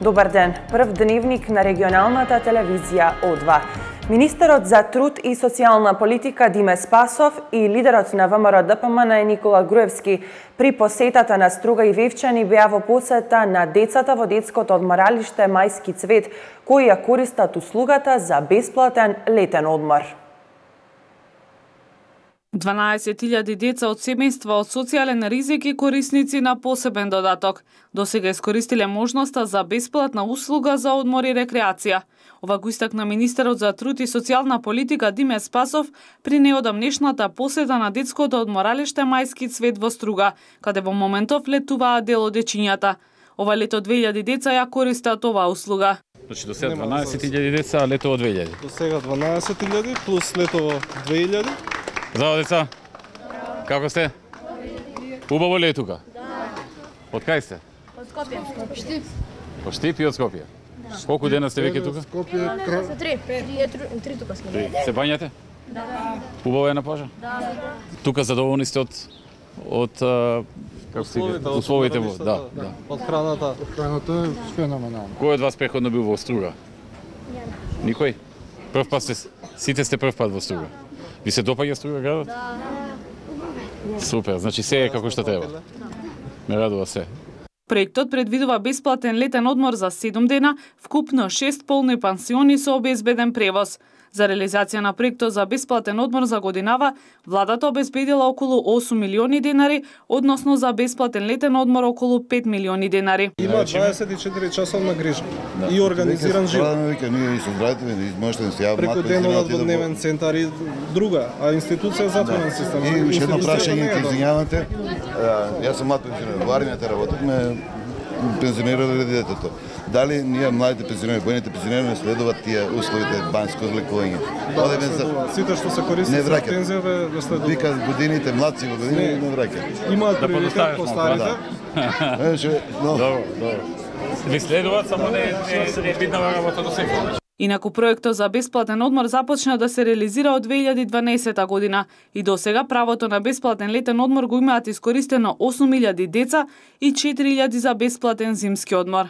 Добар ден, прв дневник на регионалната телевизија О2. Министерот за труд и социјална политика Диме Спасов и лидерот на ВМРО ДПМН Никола Груевски при посетата на Струга и Вевчани беа во посета на децата во детското одморалиште Мајски цвет, кои ја користат услугата за бесплатен летен одмор. 12.000 деца од семејства од социјален ризик и корисници на посебен додаток досега искористиле можноста за бесплатна услуга за одмор и рекреација. Ова го истакна министерот за труд и социјална политика Диме Спасов при неодамнешната посета на детското одморалиште Мајски цвет во Струга, каде во моментов летуваат дел од дечињата. Ова лето 2000 деца ја користат оваа услуга. Значи до сега 12.000 деца, а лето 2000. До сега 12.000 плюс лето 2000. Здраво, деца. Како сте? Убаво ли е тука? Од кај сте? Од Скопје. Штип. Од Штип и од Скопје. Колку дена сте веќе тука? Три тука сме. Се бањате? Да. Убаво е на плажа? Да. Тука задоволни сте од како се условите во, да. Од храната. Храната е феноменално. Кој од вас преходно бил во Струга? Никој? Прв пат сите сте прв пат во Струга. Ви се допаѓа Струга градот? Да. Супер, значи се е како што треба. Ме радува се. Проектот предвидува бесплатен летен одмор за 7 дена, вкупно 6 полни пансиони со обезбеден превоз. За реализација на проектот за бесплатен одмор за годинава, владата обезбедила околу 8 милиони денари, односно за бесплатен летен одмор околу 5 милиони денари. Има 24 часовна грижа и организиран живот. Ние со здравите можете да се јават преку денот во дневен центар и друга, а институција затворен систем. И уште едно прашање, ќе извинјавате. Јас сум млад пензионер, во армијата работевме, пензионирале детето. Дали ние младите пензионери, воените пензионери не следуваат тие условите банско лекување? Одеме за сите што се користат за пензија ве следуваат. Вика годините, младци во години не враќаат. Имаат приоритет по старите. Добро. Ви следуваат, само не е видна работа до сега. Инаку проектот за бесплатен одмор започна да се реализира од 2012 година и досега правото на бесплатен летен одмор го имаат искористено 8.000 деца и 4.000 за бесплатен зимски одмор.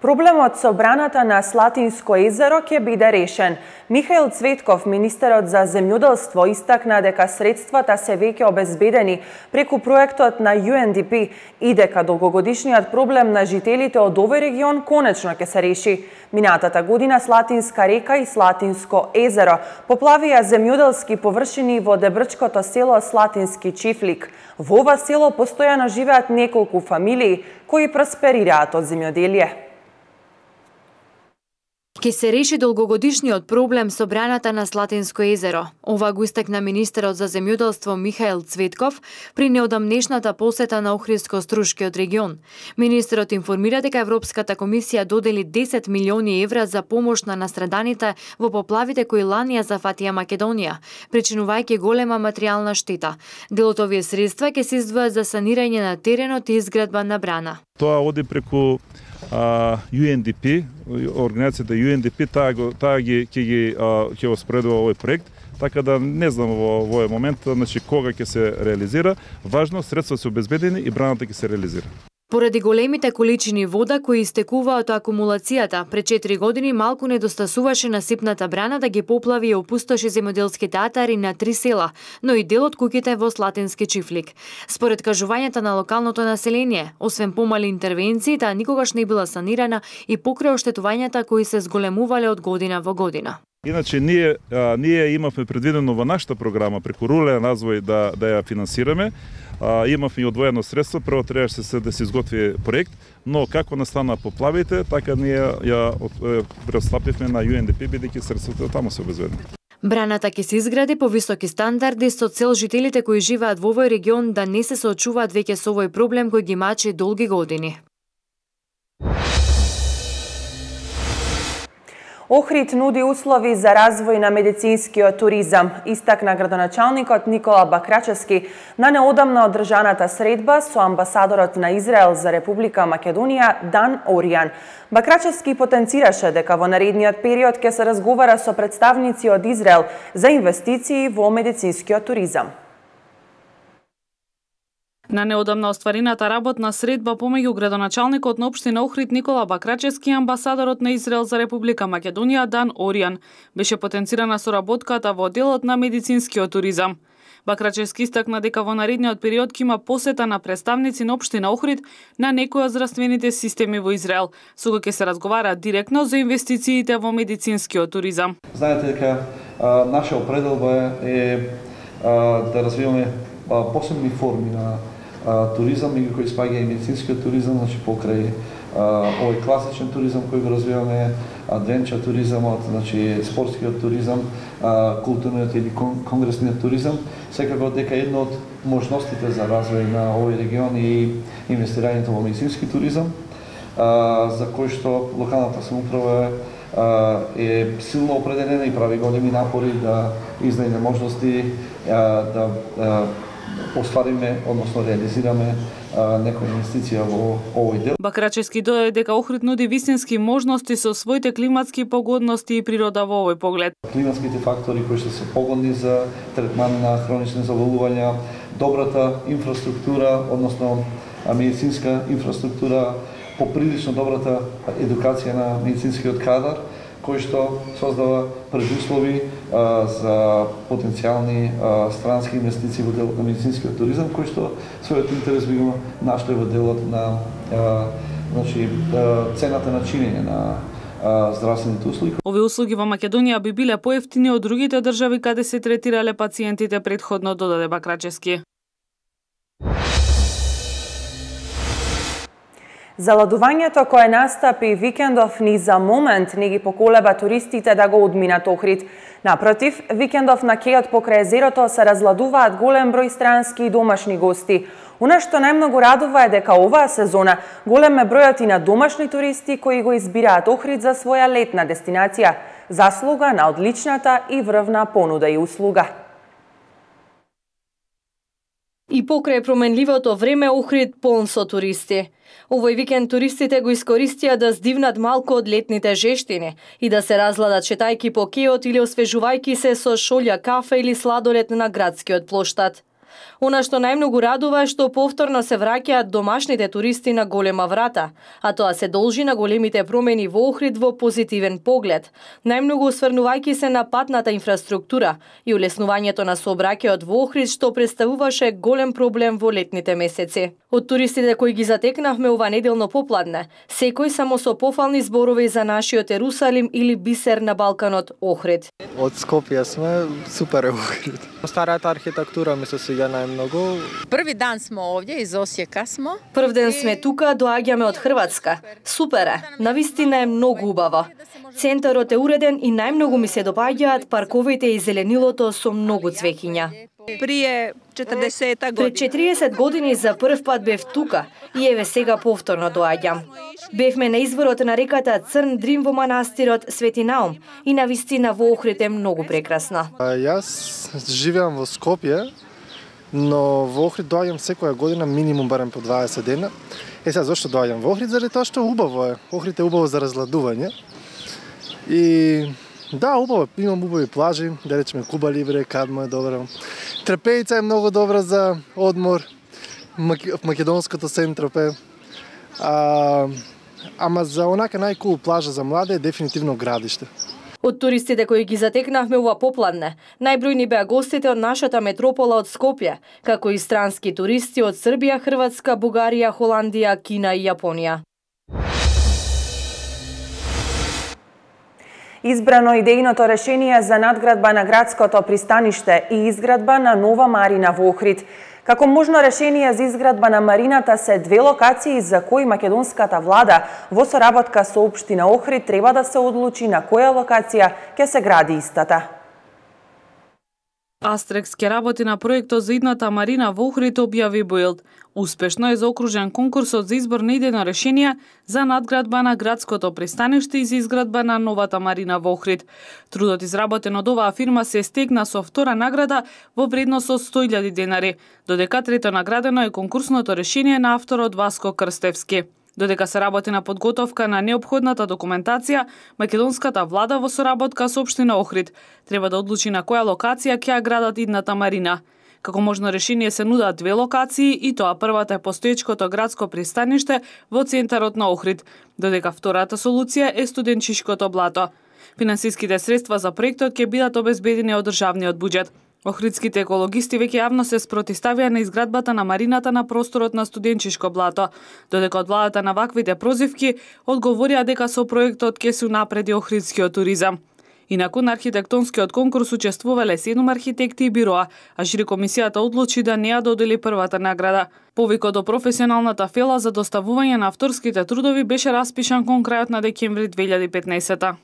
Проблемот со браната на Слатинско езеро ќе биде решен. Михаил Цветков, министерот за земјоделство, истакна дека средствата се веќе обезбедени преку проектот на UNDP и дека долгогодишниот проблем на жителите од овој регион конечно ќе се реши. Минатата година Слатинска река и Слатинско езеро поплавија земјоделски површини во дебрчкото село Слатински Чифлик. Во ова село постојано живеат неколку фамилии кои просперираат од земјоделие. Ке се реши долгогодишниот проблем со браната на Слатинско езеро. Ова го истакна министерот за земјоделство Михаил Цветков при неодамнешната посета на Охридско-Струшкиот регион. Министерот информира дека Европската комисија додели 10 милиони евра за помош на настраданите во поплавите кои лани ја зафатија Македонија, причинувајќи голема материјална штета. Дел од овие средства ќе се издвојат за санирање на теренот и изградба на брана. Тоа оди преку UNDP, организацијата UNDP, таа ќе го спредува овој проект, така да не знам во овој момент значи кога ќе се реализира. Важно средства се обезбедени и браната ќе се реализира. Поради големите количини вода кои истекуваат од акумулацијата, пред 4 години малку недостасуваше насипната брана да ги поплави и опустоши земјоделските атари на 3 села, но и дел од куќите во Слатински Чифлик. Според кажувањата на локалното население, освен помали интервенции, таа никогаш не била санирана и покрај оштетувањата кои се зголемувале од година во година. Иначе ние имавме предвидено во нашата програма преку рурален развој да ја финансираме. Имавме и одвоено средство, прво требаше да се изготви проект, но како настана поплавите, така ние ја преотстапивме на UNDP, бидејќи средствата таму се обезбедени. Браната ќе се изгради по високи стандарди со цел жителите кои живеат во овој регион да не се соочуваат веќе со овој проблем кој ги мачи долги години. Охрид нуди услови за развој на медицинскиот туризам, истакна градоначалникот Никола Бакрачевски на неодамна одржаната средба со амбасадорот на Израел за Република Македонија Дан Оријан. Бакрачевски потенцираше дека во наредниот период ќе се разговара со представници од Израел за инвестиции во медицинскиот туризам. На неодамна остварената работна средба помеѓу градоначалникот на општина Охрид Никола Бакрачевски и амбасадорот на Израел за Република Македонија Дан Оријан беше потенцирана соработката во делот на медицинскиот туризам. Бакрачевски истакна дека во наредниот период ќе има посета на представници на општина Охрид на некои од здравствените системи во Израел, со кои ќе се разговара директно за инвестициите во медицинскиот туризам. Знаете дека наша определба е да развиваме посебни форми на туризам, меѓу кои спаѓа и медицинскиот туризам, значи покрај овој класичен туризам кој го развиваме, адвенчер туризамот, значи спортскиот туризам, културниот или конгресниот туризам, секако дека едно од можностите за развој на овој регион и инвестирањето во медицински туризам, за кој што локалната самоуправа е силно определена и прави големи напори да изнајде можности да оствариме, односно реализираме некоја инвестиција во овој дел. Бакрачевски додаде дека Охрид нуди вистински можности со своите климатски погодности и природа во овој поглед. Климатските фактори кои што се погодни за третман на хронични заболувања, добрата инфраструктура, односно медицинска инфраструктура, поприлично добрата едукација на медицинскиот кадар, кој што создава предуслови за потенцијални странски инвестиции во делот на медицинскиот туризам, кој што својот интерес би го нашле во делот на цената на чинење на здравствените услуги. Овие услуги во Македонија би биле поевтини од другите држави каде се третирале пациентите претходно, додаде Бакрачевски. Заладувањето кое настапи викендов ни за момент не ги поколеба туристите да го одминат Охрид. Напротив, викендов на кејот покрај езерото се разладуваат голем број странски и домашни гости. Она што најмногу радува е дека оваа сезона голем е бројот и на домашни туристи кои го избираат Охрид за своја летна дестинација, заслуга на одличната и врвна понуда и услуга. И покрај променливото време Охрид полн со туристи. Овој викенд туристите го искористија да здивнат малку од летните жештини и да се разладат шетајки по кејот или освежувајки се со шолја кафе или сладолед на градскиот плоштад. Она што најмногу радува е што повторно се враќаат домашните туристи на голема врата, а тоа се должи на големите промени во Охрид во позитивен поглед, најмногу осврнувајќи се на патната инфраструктура и улеснувањето на сообраќајот во Охрид што представуваше голем проблем во летните месеци. Од туристите кои ги затекнавме ова неделно попладне, секој само со пофални зборови за нашиот Ерусалим или бисер на Балканот Охрид. Од Скопје сме, супер е Охрид. Старата архитектура ми се свиѓа најмногу. Први дан смо овде, из Осијека смо. Прв ден сме тука, доаѓаме од Хрватска. Супер е, навистина е многу убаво. Центарот е уреден и најмногу ми се допаѓаат парковите и зеленилото со многу цвеќиња. Пред 40 години. Пред 40 години за прв пат бев тука и еве сега повторно доаѓам. Бевме на изворот на реката Црн Дрим во манастирот Свети Наум и навистина во Охрид е многу прекрасна. Јас живеам во Скопје, но во Охрид доаѓам секоја година минимум барем по 20 дена. Сега зошто доаѓам во Охрид? Заради тоа што убаво е. Охрид е убаво за разладување. И да, убаво, имам убави плажи, да речеме Куба Либре, Кадмо е добро. Трпејица е многу добра за одмор, македонското Сен-Тропе. Ама за онака најкул плажа за младе е дефинитивно Градиште. Од туристите кои ги затекнавме ова попладне, најбројни беа гостите од нашата метропола од Скопје, како и странски туристи од Србија, Хрватска, Бугарија, Холандија, Кина и Јапонија. Избрано идејното решение за надградба на градското пристаниште и изградба на нова марина во Охрид. Како можно решение за изградба на марината се две локации за кои македонската влада во соработка со општина Охрид треба да се одлучи на која локација ќе се гради истата. Астрекс ќе работи на проектот за идната марина во Охрид, објави Буилд. Успешно е заокружен конкурсот за избор на идејно решение за надградба на градското пристаниште и за изградба на новата марина во Охрид. Трудот изработен од оваа фирма се стегна со втора награда во вредност од 100.000 денари, додека трето наградено е конкурсното решение на авторот Васко Крстевски. Додека се работи на подготовка на неопходната документација, македонската влада во соработка со општина Охрид треба да одлучи на која локација ќе ја градат идната марина. Како можно решение се нудат две локации и тоа првата е постоечкото градско пристаниште во центарот на Охрид, додека втората солуција е студенчишкото блато. Финансиските средства за проектот ќе бидат обезбедени од државниот буџет. Охридските екологисти веќе јавно се спротивставија на изградбата на марината на просторот на студенчишко блато, додека од владата на ваквите прозивки одговорија дека со проектот ќе се унапреди охридскиот туризам. Инаку на архитектонскиот конкурс учествувале 7 архитекти и бироа, а жири комисијата одлучи да не ја додели првата награда. Повикот до професионалната фела за доставување на авторските трудови беше распишан кон крајот на декември 2015.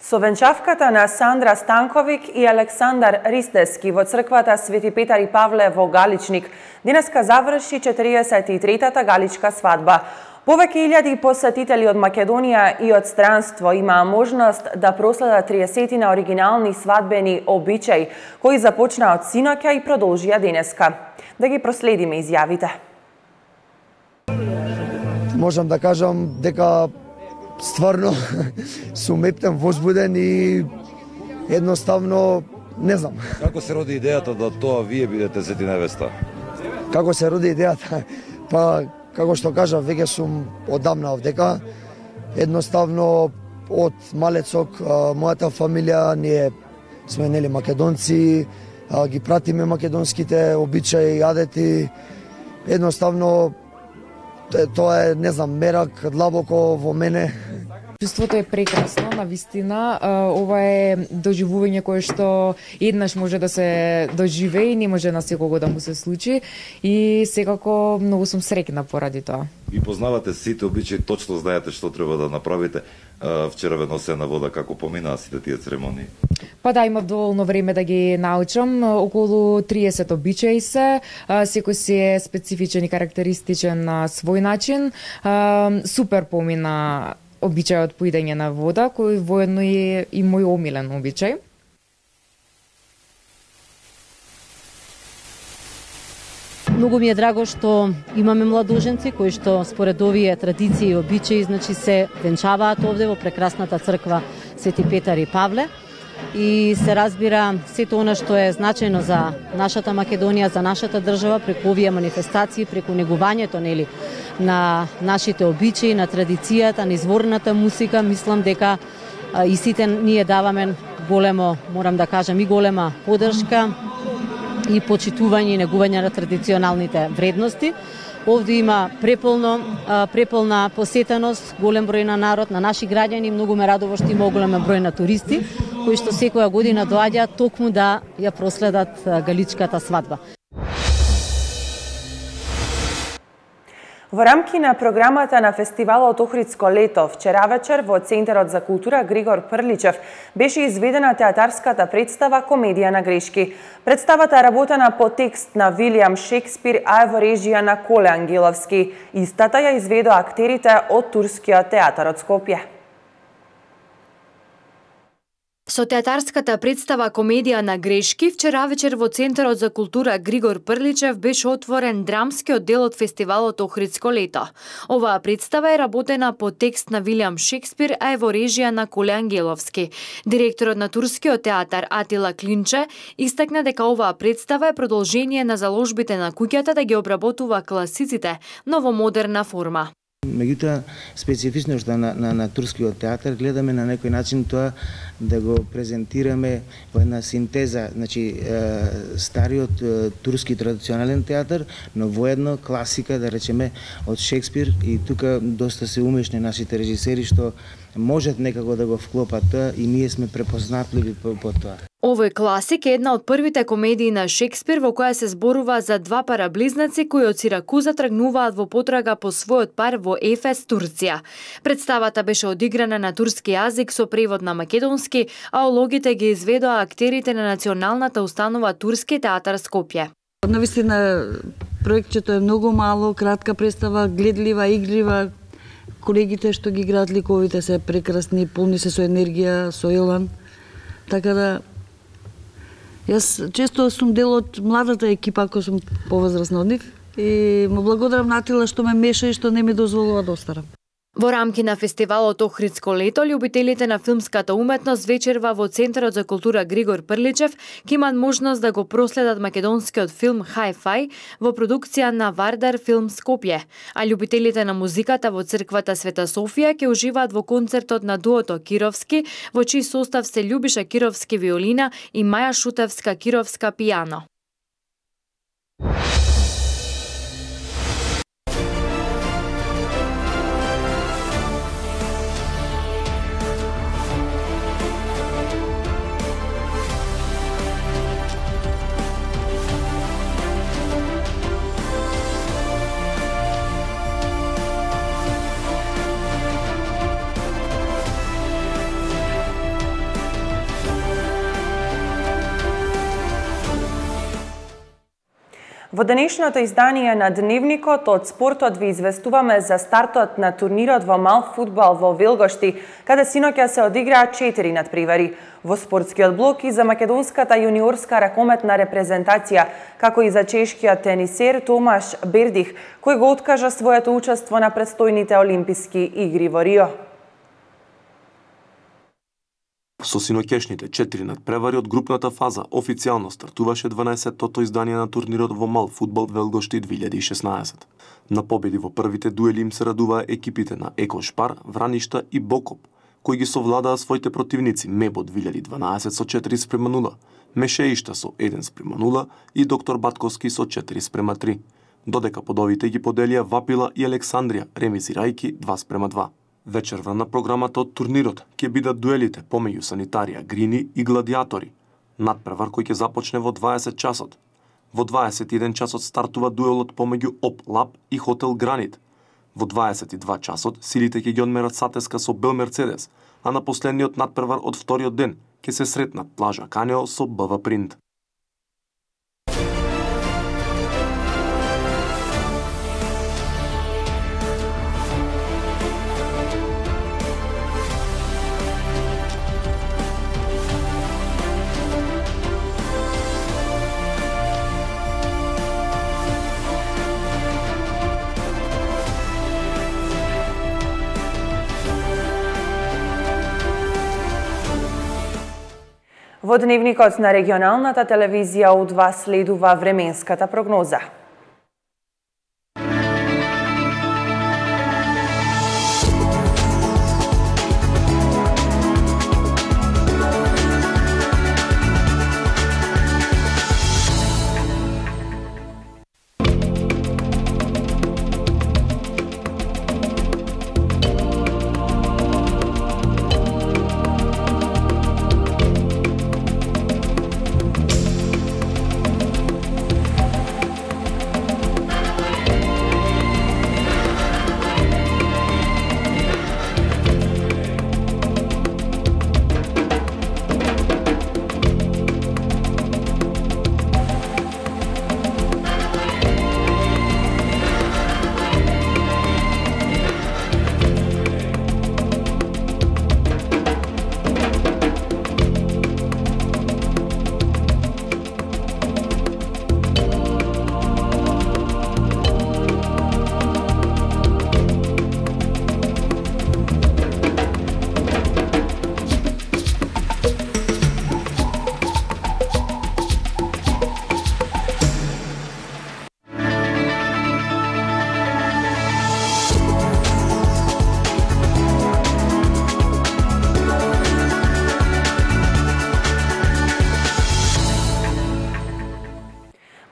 Со венчавката на Сандра Станковик и Александар Ристески во црквата Свети Петар и Павле во Галичник денеска заврши 43-та галичка свадба. Повеќе илјади посетители од Македонија и од странство имаа можност да проследат 30 на оригинални свадбени обичаи, кои започнаа од синоќа и продолжија денеска. Да ги проследиме изјавите. Можам да кажам дека стварно сум ептен, возбуден и едноставно не знам. Како се роди идејата да тоа вие бидете сети невеста? Како се роди идејата? Па, како што кажав, веќе сум одамна овдека. Едноставно, од малецок, мојата фамилија, ние сме нели македонци, ги пратиме македонските обичаи, адети. Едноставно, тоа е, не знам, мерак длабоко во мене. Чувството е прекрасно, навистина. Ова е доживување кое што еднаш може да се доживее и не може на секого да му се случи. И секако многу сум среќна поради тоа. Ви познавате сите обичаи, точно знаете што треба да направите. Вчера ве носена вода, како поминаа сите тие церемонии? Па да, имав доволно време да ги научам. Околу 30 обичаи се. Секој си е специфичен и карактеристичен на свој начин. Супер помина обичајот поидење на вода, кој воедно е и мој омилен обичај. Многу ми е драго што имаме младоженци кои што според овие традиции и обичаи значи се венчаваат овде во прекрасната црква Свети Петар и Павле. И се разбира сето она што е значајно за нашата Македонија, за нашата држава, преку овие манифестации, преку негувањето нели на нашите обичаи, на традицијата, на изворната музика, мислам дека и сите ние даваме големо, морам да кажам, и голема поддршка и почитување и негување на традиционалните вредности. Овде има преполна посетеност, голем број на народ, на наши граѓани, многу ме радува што има голем број на туристи кои што секоја година доаѓаат токму да ја проследат галичката свадба. Во рамки на програмата на фестивалот Охридско лето, вчера вечер во Центарот за култура Григор Прличев беше изведена театарската представа Комедија на грешки. Представата е работена по текст на Вилијам Шекспир, а е во режија на Коле Ангеловски. Истата ја изведоа актерите од Турскиот театар од Скопје. Со театарската представа Комедија на грешки, вчера вечер во Центарот за култура Григор Прличев беше отворен драмскиот дел од фестивалот Охридско лето. Оваа представа е работена по текст на Вилијам Шекспир, а е во режија на Коле Ангеловски. Директорот на Турскиот театар Атила Клинче истакна дека оваа представа е продолжение на заложбите на куќата да ги обработува класиците, но во модерна форма. Меѓутоа, специфичноста на Турскиот театар гледаме на некој начин тоа да го презентираме во една синтеза, значи стариот турски традиционален театар, но воедно класика, да речеме, од Шекспир, и тука доста се умешни нашите режисери што можат некако да го вклопат тоа и ние сме препознатливи по тоа. Овој класик е една од првите комедии на Шекспир во која се зборува за два параблизнаци кои од Сиракуза тргнуваат во потрага по својот пар во Ефес, Турција. Представата беше одиграна на турски јазик со превод на македонски, а улогите ги изведоа актерите на националната установа Турски театар Скопје. Навистина проектчето е многу мало, кратка представа, гледлива, игрива. Колегите што ги играат ликовите се прекрасни, полни се со енергија, со елан. Така да јас често сум дел од младата екипа, ако сум повозрасна од нив, и му благодарам на Атила што ме меша и што не ми дозволува да остарам. Во рамки на фестивалот Охридско лето, љубителите на филмската уметност вечерва во Центарот за култура Григор Прличев ќе имаат можност да го проследат македонскиот филм Hi-Fi во продукција на Вардар Филм Скопје, а љубителите на музиката во црквата Света Софија ќе уживаат во концертот на дуото Кировски, во чиј состав се Љубиша Кировски виолина и Маја Шутевска Кировска пијано. Во денешното издание на Дневникот од спортот ви известуваме за стартот на турнирот во мал фудбал во Велгошти, каде синоќа се одиграа 4 надпревари. Во спортскиот блок и за македонската јуниорска ракометна репрезентација, како и за чешкиот тенисер Томаш Бердих, кој го откажа своето учество на предстојните Олимписки игри во Рио. Со синоќешните 4 надпревари од групната фаза официјално стартуваше 12-тото издание на турнирот во мал фудбал Велгошти 2016. На победи во првите дуели им се радуваа екипите на Еко Шпар, Враништа и Бокоп, кои ги совладаа своите противници Мебо 2012 со 4:0, Мешеишта со 1:0 и Доктор Батковски со 4:3. Додека подовите ги поделија Вапила и Александрија, ремизирајки 2:2. Вечерва на програмата од турнирот ќе бидат дуелите помеѓу Санитарија Грини и Гладиатори. Надпревар кој ќе започне во 20 часот. Во 21 часот стартува дуелот помеѓу ОП Лаб и Хотел Гранит. Во 22 часот силите ќе ги одмерат Сатеска со Бел Мерцедес, а на последниот надпревар од вториот ден ќе се сретнат Плажа Канео со БВ Принт. Во Дневникот на регионалната телевизија У2 следува временската прогноза.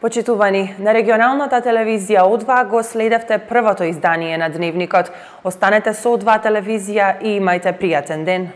Почитувани, на регионалната телевизија У2 го следевте првото издание на Дневникот. Останете со У2 телевизија и имајте пријатен ден.